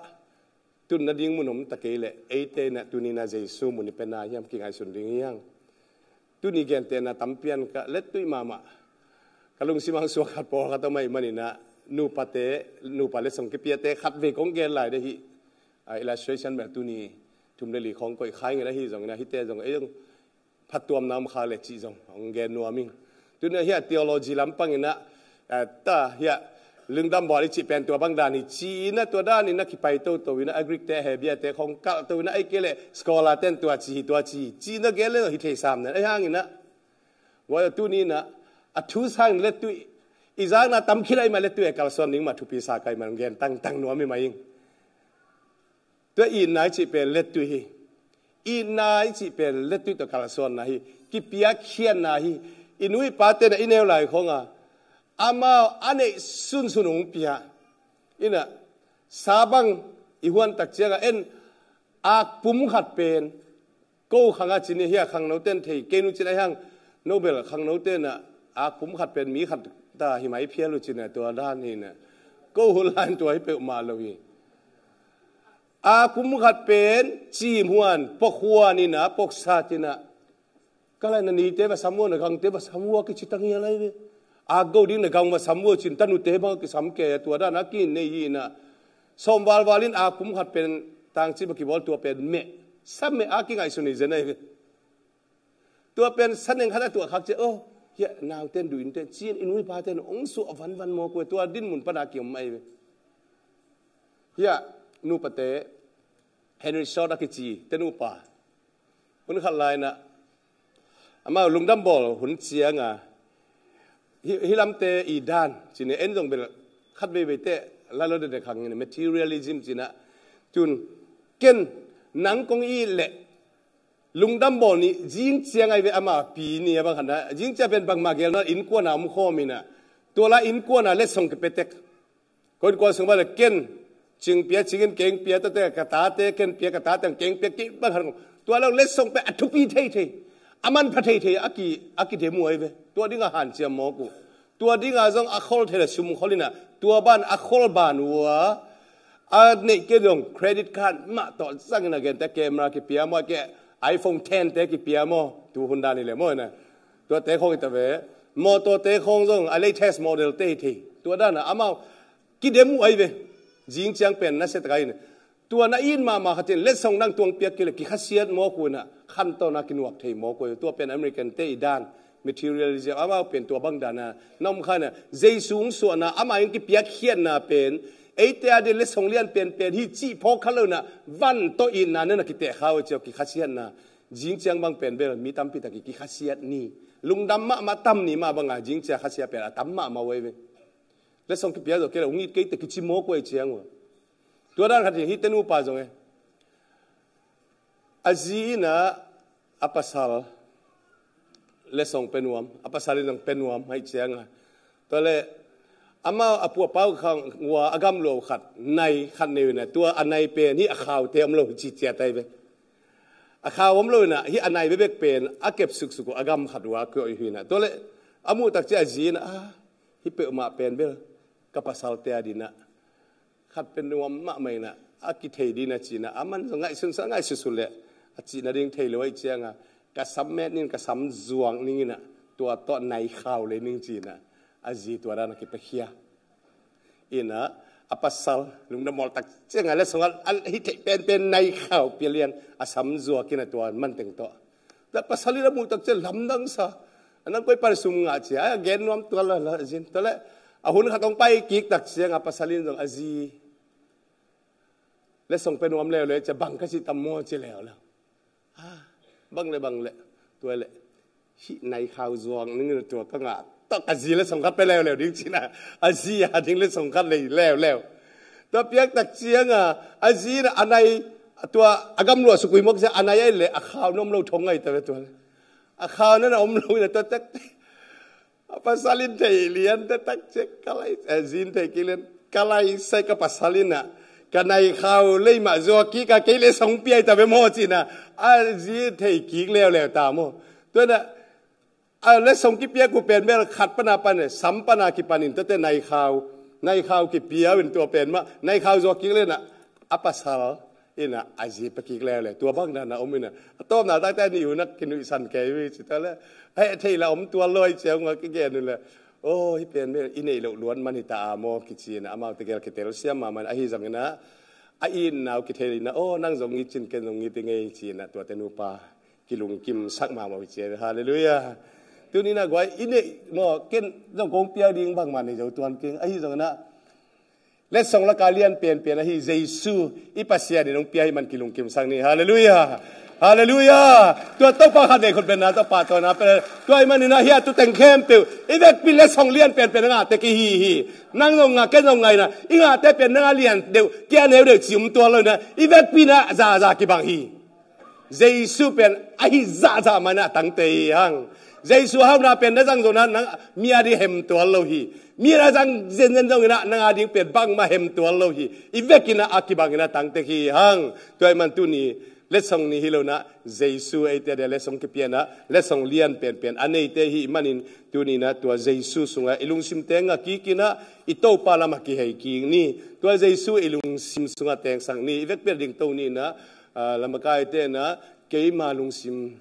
tun nading mun om ta kei leh, eite in ah tuni in ah Jesu mun i pia na hiam, kingaihsun ding hi hang. Tuni gentehna tampi in ka lettui mahmah. Ka lungsim ah suak khat, pawlkhat om ahih man in ah, nupate, nupa letsong kipiate khat vei kong gen lai ding hi. A, illustration bel tuni thum leh li khong koih kha ing in ah, ahi zongin ah, hihte zong, ei zong phattuamna om kha leh cih zong hong gen nuam ing. Tuni ah hih a theology lampang in ah, a, ta hih a lungdam bawl i cih pen tua bang dan hi ci in ah, tua dan in ah kipai toto in ah, a Greek te, Hebrew te khong kalh to in ah, ahih kei leh scholar ten tua ci hi, tua ci hi ci in ah gen leh hi thei sam nen, ahih hangin ah, guai aw, tuni in ah a thu sang lettui, i zakna tam khit ahih mah lettui a kalsuan ding mah thupi sa ka hih man gen tangtang nuam hi mah ing. Tua itna i cih pen lettui hi. Itna i cih pen lettui tawh kalsuanna hi. Kipiakkhiatna hi. I nu i pate in ah i neu lai khong a, amau a neih sunsun hong pia in ah, sa bang i huan tak ciang a, en, akpum khat pen, ko khang ah ci ni, hih a khangnote in thei kei nu ci in ah, hih hang, no bel khangnote in ah akpum khat pen mi khat ta hi mai phial uh ci in ah, tua dan hi in ah, ko hun lai in tua hi peuhmah lo hi. Akpum khat pen cim huan, pok huan in ah, pok sat in ah, ka lai, na nite va sam ua, na gangte va sam ua kici ta ngial lai ve. Akgo ding na gang va sam ua ci in, tanute bang a kisam kei a, tua dan a ki-it nei hi in ah, sawm valval in akpum khat pen tangci va kibawl, tua pen meh, sa meh a kingaihsun hi zen ahi ve. Tua pen sa neng khat a tuah khak ciang, oh, hih a naute in duh in teh ci in, i nu i pate in hong suah vanvan mawk uh hi. Tua dinmun pan a ki-om ahi ve. Hih a nupate, Henry Short a kici te nupa, hun khat lai in ah, amau lungdam bawl hun ciang a, hih, hih lamte i dan ci in ah, en zong bel khat veivei teh, lailawh dekdek khang in ah, materialism ci in ah, tun, ken nang kong it leh lungdam bawl ni, zing ciang ahi ve, amah pi ni a bang khat in ah, zing ciang pen bangmah gel nawn, innkuan ah om khawm in ah, tua lai innkuan ah letsong kipia tek. Ko innkuan sung bang le ken cing pia, cing in keng pia, tate ka tate ken pia, ka tate keng pia, kei bang han ko. Tua lo letsong pen a thupi thei thei, a manpha thei thei a ki, a kidem uh ahi ve. Tua ding a hanciam mawk uh. Tua ding a zong a khol thei le sum khol in a, tua ban a khol ban uh a, a neih kei zong credit card mah tawh zang in a, gente camera kipia maw, ke iPhone ten te kipia maw, tu hun dan hi le maw in a. Tua te khong hi ta ve. Mawtaw te khong zong a latest model te hi thei. Tua dan a amau kidem uh ahi ve. Zing ciang pen nasia tak a in, tua na it mahmah khat in letsong nang tuang piak kei le kikhasiat mawk uh in a, khantawn a kinuak thei mawk uh ahi ve. Tua pen American te i dan, materialism, amau pen tua bang dan a na om kha in a, Jesu hong suahna, amah in kipiakkhiatna pen eite a ding letsong lian penpen hi cih phawk kha lo in a, van tawh itna na na kiteh kha uh a, ci a kikhasiatna. Zing ciang bang pen bel mi tampi tak i kikhasiat ni. Lungdam mahmah tam ni mah bang a, zing ciang khasiat pen a tam mahmah uh ahi ve. Letsong kipia zawh kei le hong it kei teh kici mawk uh ahi ciang uh. Tua dan khat hi, hihte nupa zong e, a zi in a, a pasal letsong pia nuam, a pasal in zong pia nuam ahih ciang a. Tua le amau a pu a pau khang ua a gamlua uh khat nai khat nei uh in a, tua a nai pen hih a khaute om lo hi ci ciat ahi ve. A khau om lo in a, hih a nai bekbek pen a kep suksuk uh a gam khat uh a koih uh hi in a. Tua le a muh tak ciang a zi in a, "Ah, hih peuhmah pen bel ka pasalte a ding a, khat pia nuam mahmah in a, a kithei ding a," ci in a, aman zong ngaihsun sa, ngaihsutsut le a cih nading thei lo ahih ciang a, "Ka sam met ning, ka sam zuak ning in a, tua tawh nai khau lei ning," ci in a, a zi tua dan a kipiakhia in a, a pasal lungdam mawk tak ciang a letsong a, a hih theih penpen nai khau pia lian, a sam zuak in a tua man teng tawh. Tua pasal in a muh tak ciang lamdang sa. "A nang koi pan sum ngah?" ci a, a gen nuam tuan lo, lo zin. Tua le a hun khat hong pai kik tak ciang a pasal in zong, "A zi, letsong pia nuam leuleu," ci a, "Bang ka cih tam maw?" ci leuleu. "Ah, bang le bang le." Tua le, "Hih nai khau zuak ning in a, tua ka ngah tawh ka zi letsong khat pia leuleu ding," ci in a, a zi a ding letsong khat lei leuleu. Tua piak tak ciang a, a zi in a, a nai, tua a gamlua sukui mawk ciang a nai ahih leh a khau na om lo thong ahi ta ve tua le. A khau na na om lo in a, tua tak a pasal in thei lian, tua tak ciang ka lai, a zi in thei kik lian, "Ka lai sai, ka pasal in a, ka nai khau lei mah zuak kik a, kei letsong pia hi ta ve maw?" ci in a, a zi in thei kik leuleu ta maw. Tua in a, a letsong kipiak uh pen bel khat pan a pan e, sam pan a kipan in, tuate nai khau, nai khau kipia uh in, tua pen mah nai khau zuak kik lian a, a pasal in a, a zi pia kik leuleu. Tua bang dan a om in a, a tawpna takte a nih uh na kinuihsan kei uh hi ci ta le, a heh theih la om tuan lo ahih ciang a kigen uh le, "Aw, hih pen bel i neih loh luat man hi ta a maw?" kici in a, amaute gel kitelsiam mahmah in a, ahi zongin a, a itna uh kithei in a, "Aw, nang zong it cin, ken zong it i ngei," ci in a, tuate nupa kilungkimsak mahmah uh hi ci. Halleluiah. Tuni in a guai, i neih maw, ken zong kong piak ding bangmah nei zo tuan keng. Ahi zongin a, letsong laka lian penpen ahi Jesu i Pasian in hong pia ahih man kilungkimsak ni. Halleluiah. Halleluiah. Tua Topa khat nei khut benna, Topa tawhna pen. Tua ahih manin a, hih a tu teng khempeuh i vekpi letsong lian penpen a ngah tek i hi hi. Nang zong ngah, ken zong ngah in a, i ngahte pen nang a lian deuh, kei a neu deuh ci om tuan lo in a, i vekpi in a zahzah kibang hi. Jesu pen ahi zahzah man a tangte hi hang. Jesu hauna pen na zang zong in a, nang mi a ding hem tuan lo hi. Mi a zang zenzen zong in a, nang a ding pen bangmah hem tuan lo hi. I vek in a, a kibang in a tangte hi hang. Tua ahih man tuni letsong ni hi lo in a, Jesu eite a dia letsong kipia in a, letsong lian penpen a neite hi manin, tuni in a tua Jesu sungah i lungsimte ngah kik in a, i Topa lamah kihei kik ni. Tua Jesu i lungsim sungah tengsak ni. I vekpi a dingto ni in a, ah, lamakaite in a, keima lungsim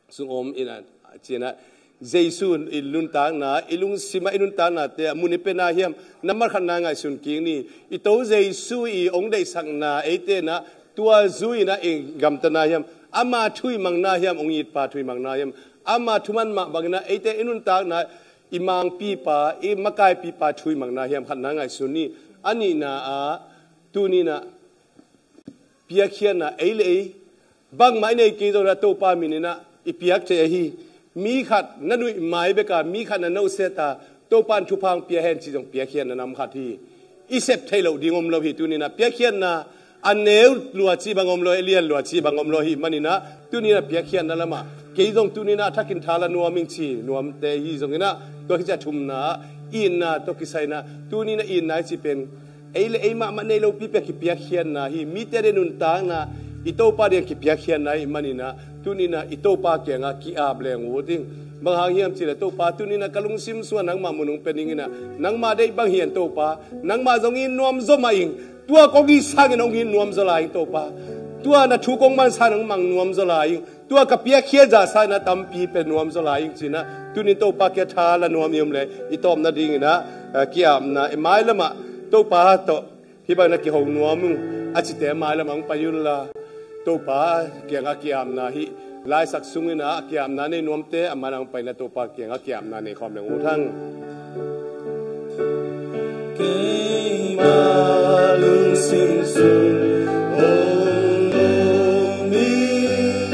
sung om in a, ci in a, Jesu i nuntakna, i lungsim ah i nuntaknate ah mun i pia na hiam, nambat khatna ngaihsun kik ni. I To Jesu i hong deihsakna eite in a, tua zui in a, i gamta na hiam, ama thu i mang na hiam, hong itpa thu i mang na hiam, ama thu man mah bangin a, eite i nuntakna, i mangpipa, i makaipipa thu i mang na hiam, khatna ngaihsun ni. A nihna ah, tuni in a, piakkhiatna ei le ei, bangmah i nei kei zong in a, Topa min in a i piak thei ahi. Mi khat na nuih mai bek a, mi khat na nohsiat a, Topa in thupha hong pia hen cih zong piakkhiatna nam khat hi. I sep theih loh ding om lo hi. Tuni in a piakkhiatna a neu lua cih bang om lo, a lian lua cih bang om lo hi manin a, tuni in a piakkhiatna lamah kei zong tuni in a thakin tha la nuam ing ci nuamte hi zongin a, tua khit ciang a thumna ah Itna tawh kisai in ah, tuni in ah itna i cih pen ei le ei mahmah nei lopi pen kipiakkhiatna hi. Mite ading nuntakna i Topa ading kipiakkhiatna ahih manin ah, tuni in ah i Topa kiangah ki-ap leng uh ding. Bang hang hiam cih leh, Topa, tuni in ah ka lungsim sungah nangmah mun hong pia ning in ah, nangmah deih bang hi hang Topa, nangmah zong it nuam zaw mah ing. Tua kong it sangin hong it nuam zaw lai ing Topa. Tua na thu kong man sangin hong mang nuam zaw lai ing. Tua ka piakkhiat zah sangin ah tampi pia nuam zaw lai ing ci-in ah, tuni in Topa kiang tha la nuam i om leh, i tawpna dingin ah, eh, ki-apna, i mailam ah Topa tawh hih bangin ah kiho nuam ung a cite mailam ah hong pai unla, Topa kiangah ki-apna hih laisak sungin ah ki-apna nei nuamte a mailam ah hong pai in ah Topa kiangah ki-apna nei khawm leng uh hang. Keima lungsim sung hong om in,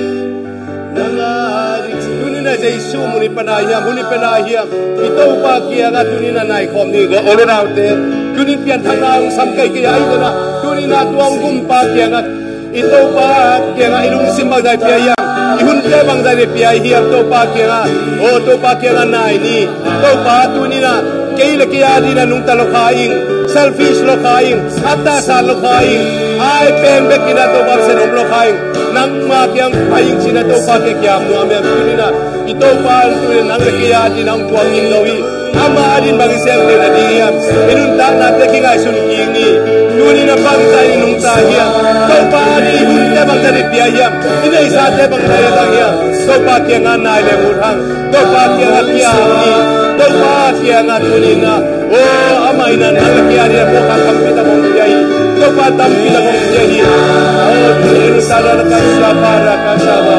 nang a ding. Tuni in ah Jesu mun i pen ah hiam, hun i pen ah hiam, i Topa kiangah tuni in ah nai khawm ni. Ka u le naute, tuni in pianthakna hong sam kei kei a, i kona tuni in ah tua hong gumpa kiangah, i Topa kiangah i lungsim bangzah pia hiam, i hunte bangzah pia hiam, Topa kiangah, o Topa kiangah nai ni. Topa, tuni in ah kei le kei a dingin ah nungta lo kha ing, selfish lo kha ing, a tahsan lo kha ing, ai pen bekin ah Topa Pasian om lo kha ing, nangma kiang pai ing ci-in ah Topa kiang ki-ap nuam hiam? Tuni in ah i Topa tuni in ah nang le kei a dingin ah hong tuam ing lo hi. Amah a dingin bang i sem theihna ding hiam? I nuntaknate kingaihsun kik ni. Tuni in ah bangzah in i nungta hiam? Topa a dingin i hunte bangzah in i pia hiam? I neihsate bangzah in i zang hiam? Topa kiangah nai leng uh hang. Topa kiangah ki-ap ni. Topa kiangah tuni in ah, o, amah in ah nang le kei a dingin ah puakkhak tampi tak hong pia hi. Topa tampi tak hong pia hi. O, tuni in ah sa ra na ka sa ba ra ka sa ba.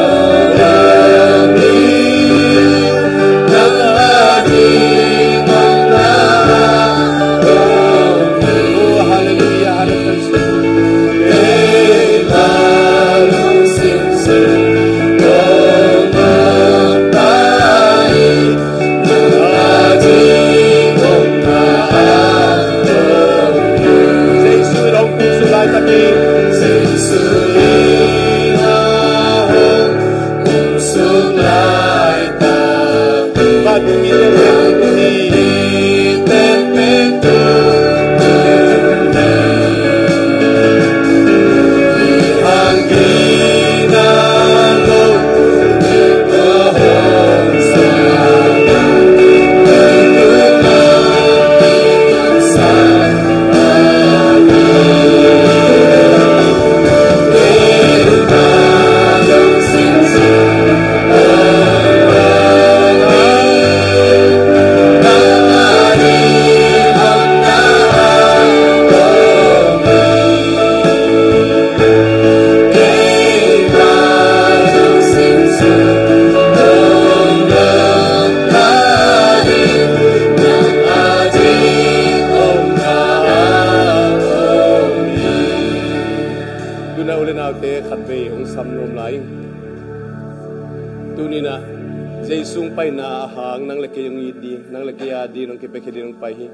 Tuni in ah u le naute, khatvei hong sam nuam lai ing. Tuni in ah Jesu hong paina a hang nang le kei hong it ding, nang le kei a dingin hong kipiakkhiat dingin hong pai hi.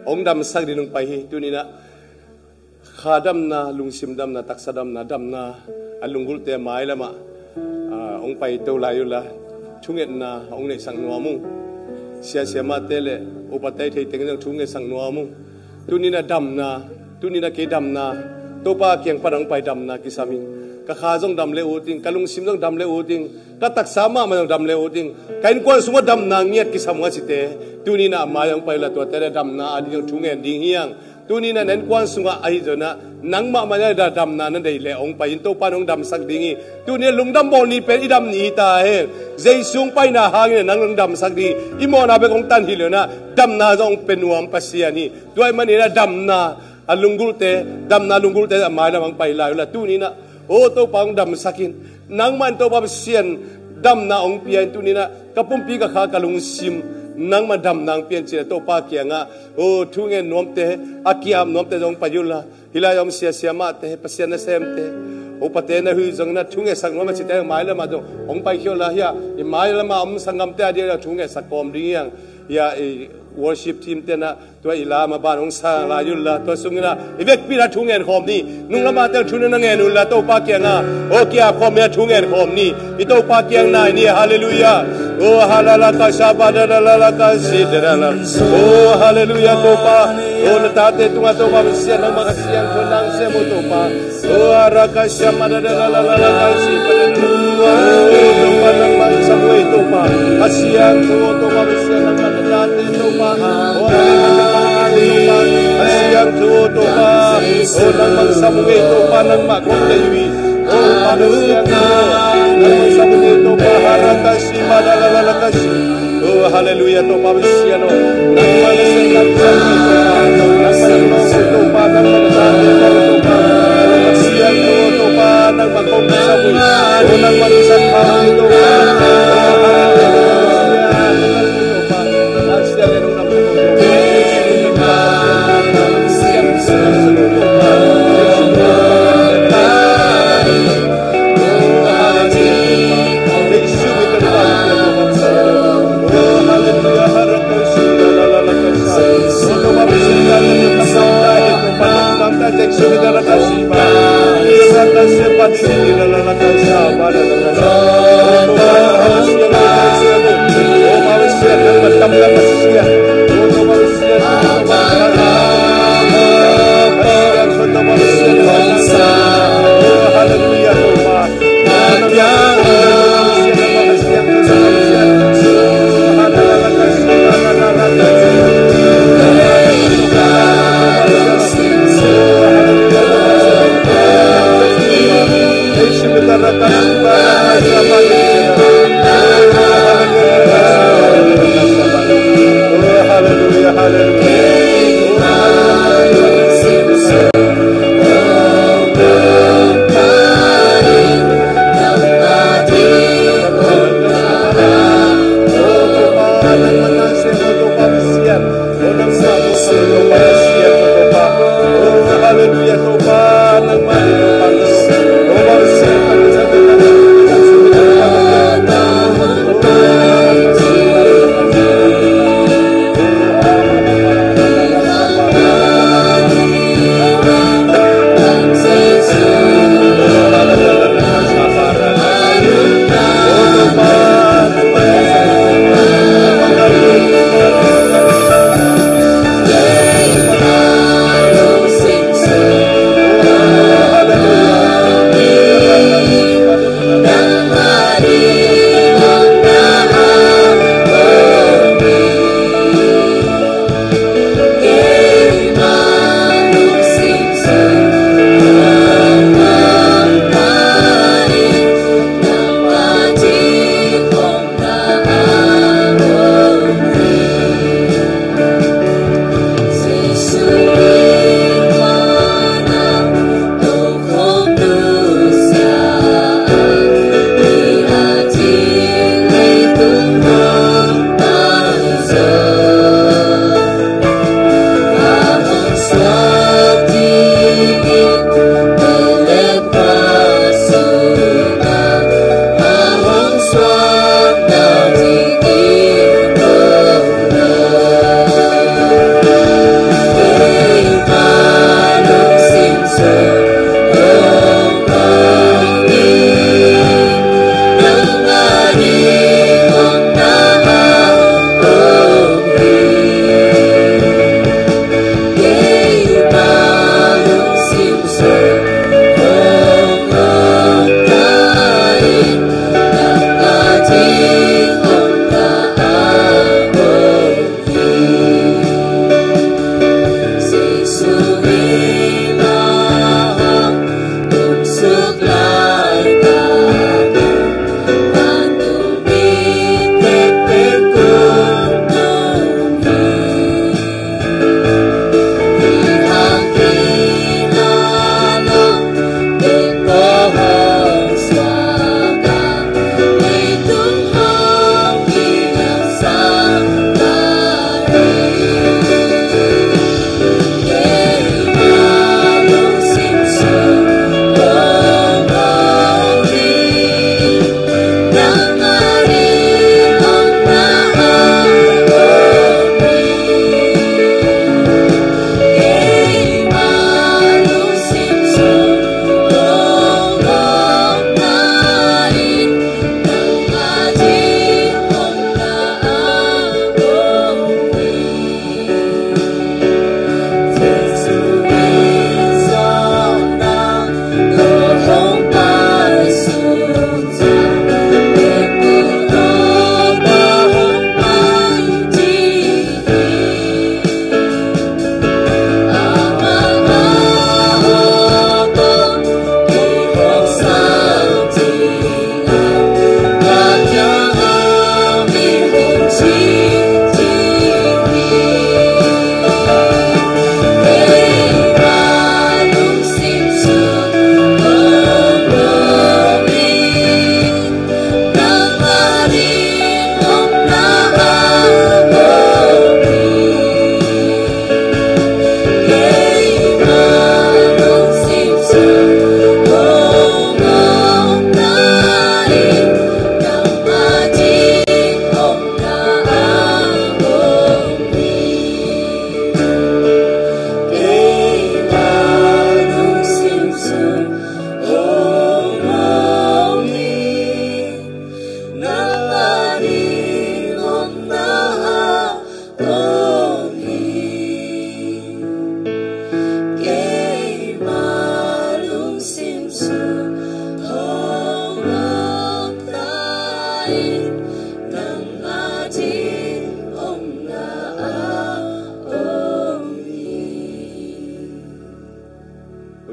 Hong damsak dingin hong pai hi. Tuni in ah kha damna, lungsim damna, taksa damna, damna a lunggulhte mailam ah, ah, hong paito lai unla, thungetna hong neihsak nuam ung. Sia siamahte le upate i theih teng zong thungetsak nuam ung. Tuni in ah damna, tuni in ah kei damna, Topa kiang pan hong pai damna kisam ing. Ka kha zong dam le ut ing, ka lungsim zong dam le ut ing, ka taksa mahmah zong dam le ut ing, ka innkuan sungah damna ngiat kisam ung a cite, tuni in ah a mai hong pai unla, tuate le damna a ding zong thungen ding hi hang. Tuni in ah na innkuan sungah ahi zongin ah nang mahmah in ah damna na neih leh hong pai in, Topa in hong damsak ding hi. Tuni in ah lungdam bawl ni pen i dam ni hi ta hen. Jesu hong paina hangin ah nang hong damsak ding hi. I mawhna bek hong tan hi lo in ah, damna zong hong pia nuam Pasian hi. Tua ahih manin ah damna a lunggulhte, damna lunggulhte a mailam hong pai lai unla, tuni in ah, o Topa, hong damsak in. Nangmah in Topa Pasian damna hong pia in, tuni in ah ka pumpi, ka kha, ka lungsim nangmah damna hong pia in ci-in ah Topa kiangah, o, thungen nuamte, a ki-ap nuamte zong pai unla. Hih lai-ah om sia siamahte, Pasian nasemte, upate na huih zongin ah thungetsak nuam a cite mailam ah zong hong paikhia unla. Hiah i mailam ah om sanggamte a dingin ah thungetsak kawm ding hi hang. Hiah i worship team te in ah tua i lam a ban hong sang lai unla, tua sungin ah i vekpi in ah thungen khawm ni. Nunglam ah te thu na ngen unla, Topa kiangah, o, ki-ap khawm in ah thungen khawm ni. I Topa kiang nai ni. Halleluiah. Oh, halala kasaba da la la la kasi da la la. Oh, haleluya Topa. Oh, na tate tungah Topa Pasian, nangmah ka siangtho nang sem uh Topa. Oh, ara kasaba da la la la la kasi da la la. Oh, Topa nangmah sam uh ei Topa. Ka siangtho Topa Pasian, nangmah na tate Topa. Oh, nangmah ka siangtho Topa. Oh, nangmah sam uh ei Topa, nangmah kong deih uh. Oh, Topa Pasian, nangmah sam uh ei Topa, ara kasaba da la la la kasi. Oh, haleluya Topa Pasian, oh. Nangmah na sem, nangmah na sem, nangmah na sem, Topa, nangmah na sem, Topa. Oh, Pasian, oh, Topa, nangmah kong sam uh. Oh, nangmah na sem, Topa. Oh, haleluya, Topa. Pasian, oh, nangmah kong sam uh.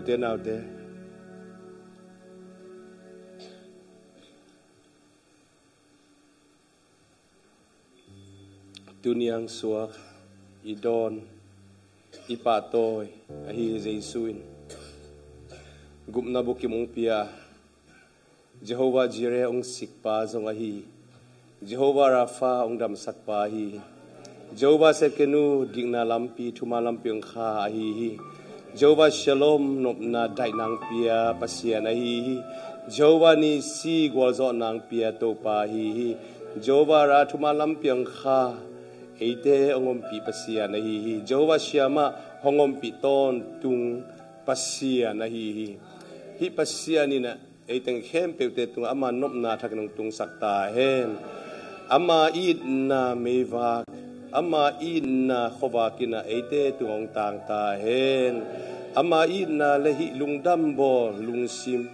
Te naute, tuniang suak i dawn, i pahtawi ahi Jesu in gupna bukim ong pia, Jehovah Jireh ong sikpa zong ahi hi. Jehovah Rapha ong damsakpa ahi hi. Jehovah Tsidkenu dikna lampi, thuman lampi ong kha ahi hi. Jehovah Shalom nopna daihna ong pia Pasian ahi hi. Jehovah Nissi gualzawhna ong pia Topa ahi hi. Jehovah Ra thuman lampi ong kha, eite ong ompih Pasian ahi hi. Jehovah Shammah hong ompih tawntung Pasian ahi hi. Hih Pasian in ah ei teng khempeuhte tungah ama nopna thakin ong tungsak ta hen. Ama itna meivak, ama itna khuavak in ah eite tungah ong tang ta hen. Ama itna le hih lungdam bawl lungsim,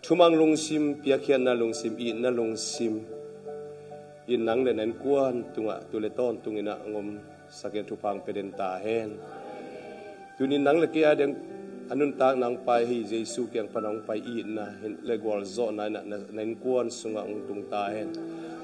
thumang lungsim, piakkhiatna lungsim, itna lungsim in nang le na innkuan tungah tu le tawntung in ah ong omsak in thupha ong pia den ta hen. Tuni nang le kei a ding a nuntakna ong pai hi, Jesu kiang pan ong pai itna le gualzawhna in ah na, na innkuan sungah ong tung ta hen.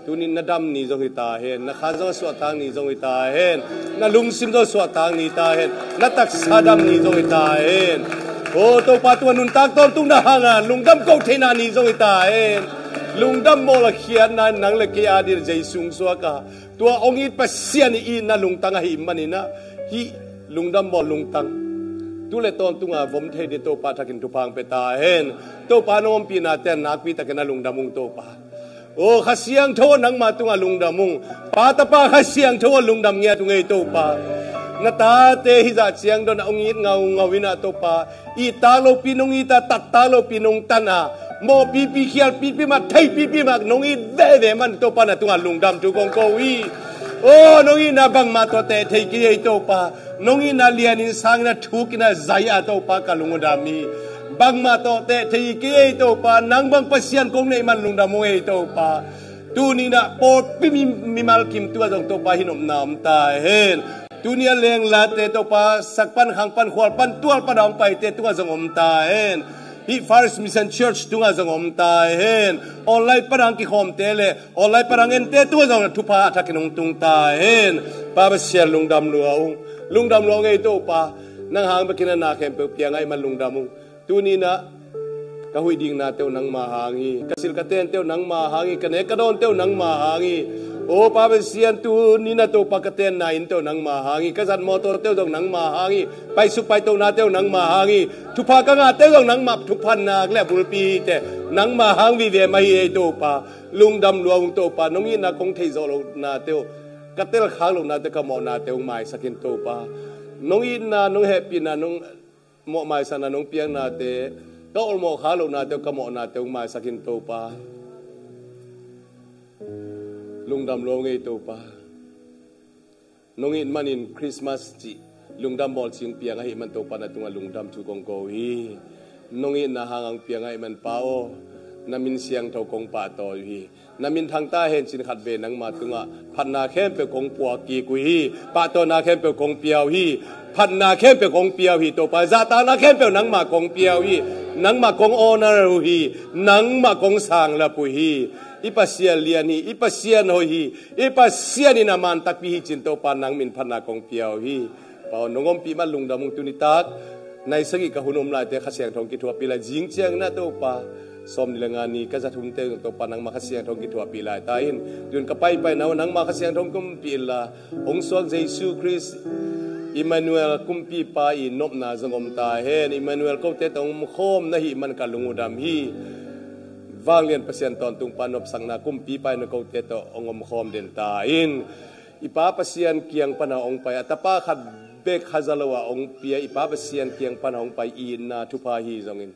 Tuni na dam ni zong hi ta hen, na khan zong a suahtak ni zong hi ta hen, na lungsim zong a suahtak ni ta hen, na taksa dam ni zong hi ta hen. O Topa, tua nuntak tawntung na hanga lungdam ko theihna ni zong hi ta hen. Lungdam bawl a khiatna in nang le kei a ding Jesu ong suak a, tua ong it Pasian i itna lungtang ahih manin ah hih lungdam bawl lungtang tu le tawntunga vom thei ding Topa thakin thupha ong pia ta hen. Topa nong ompihnate nakpi takin a lungdam ung Topa. O Kha Siangtho aw, nangma tungah lungdam ung. Pa, Tapa, Kha Siangtho aw, lungdam ngiat ung ei Topa. Na tate hih zah ciang dawn a ong it ngaungau in ah Topa, ittak lopi nong it a, tattak lopi nong tan a, mawhpipi khialpipi mah, theipipi mah nong it veve man Topa, na tungah lungdam thu kong ko hi. O nong itna bangmah tawh teh thei kei ei Topa. Nong itna lianin sangin a thukin a zai a Topa ka lung uh dam hi. Bangmah tawh teh thei kei ei Topa, nang bang Pasian kong neih man lungdam ung ei Topa. Tuni in ah pawlpi mi, mimal kim tungah zong Topa hih nopna om ta hen. Tuni a lenglate Topa, sak pan khang pan khual pan tual pan a ong paite tungah zong om ta hen. Hih First Mission Church tungah zong om ta hen. Online pan a ong kikhawmte le online pan a ong ente tungah zong thupha a thakin ong tung ta hen. Pa Pasian, lungdam lua ung. Lungdam lua ung ei Topa. Nang hang bekin a na khempeuh piang ahih man lungdam ung. Tuni in ah ka huih diknate uh nangma hang hi. Ka silh ka tente uh nangma hang hi. Ka nek ka dawnte uh nangma hang hi. O Pa Pasian, tuni in ah Topa, ka tenna innte uh nangma hang hi. Ka zat mawtawte uh zong nangma hang hi. Paisuk paitohnate uh nangma hang hi. Thupha ka ngahte uh zong nangma thupha nak le a bulpi hite nangma hang vive mah hi ei Topa. Lungdam lua ung Topa. Nong itna kong theih zawh lohnate uh, ka telkhak lohnate, ka mawhnate uh maisak in Topa. Nong itna, nong hehpihna, nong mawh maisakna, nong piaknate, ka awlmawh khak lohnate uh, ka mawhnate uh maisak in Topa. Lungdam lua ung ei Topa. Nong it manin Christmas cih lungdam bawl cih ong piang ahih man Topa, na tungah lungdam thu kong ko uh hi. Nong itna hanga ong piang ahih man Pa aw, na min siangtho kong pahtawi uh hi. Na min thang ta hen, cin khat vei nangma tungah phatna khempeuh kong puak kik uh hi. Pahtawina khempeuh kong pia uh hi. Phatna khempeuh kong pia uh hi Topa. Zahtakna khempeuh nangma kong pia uh hi. Nangma kong honor uh hi. Nangma kong sanglap uh hi. I Pasian lian hi. I Pasian hoih hi. I Pasian in a man takpi hi cin Topa, nang min phatna kong pia uh hi. Pa aw, nong ompih man lungdam ung. Tuni tak nai sagih ka hun om laite Kha Siangtho ong kithuahpih lai. Zing ciangin ah Topa, sawmnih le nga ni ka zat hunte uh Topa, nangma Kha Siangtho ong kithuahpih lai ta in. Tun ka paipaina uh nangma Kha Siangtho ong ompih inla, hong suak Jesu Khrist, Emmanuel, Kumpipa i nopna zong om ta hen. Emmanuel, kote tawh ong omkhawm na hih man ka lung uh dam hi. Vanglian Pasian tawntungpa nopsakna, Kumpipa in kote tawh ong omkhawm den ta in. I Pa Pasian kiang pana ong pai a, Tapa khat bek khaza lo a ong pia, i Pa Pasian kiang pana ong pai itna thupha hi zongin,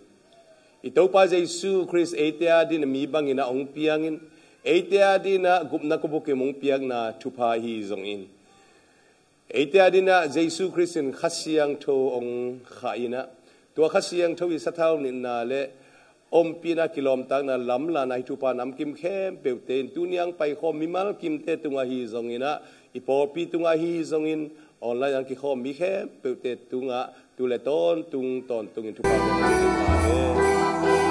i Topa Jesu Khrist eite adingin a mi bangin a ong piangin, eite adingin a gupna khuabukim ong piakna thupha hi zongin, eite adingin a Jesu Khrist in Kha Siangtho ong khah in ah, tua Kha Siangtho i sathau nitna le ompihna, kilawmtatna, lamlahna, hih thupha namkim khempeuhte in tuni a ong paikhawm mimal kimte tungah hi zongin ah, i pawlpi tungah hi zongin, online ah kikhawm mi khempeuhte tungah tu le tawntung tawntungin thupha kan pia hen.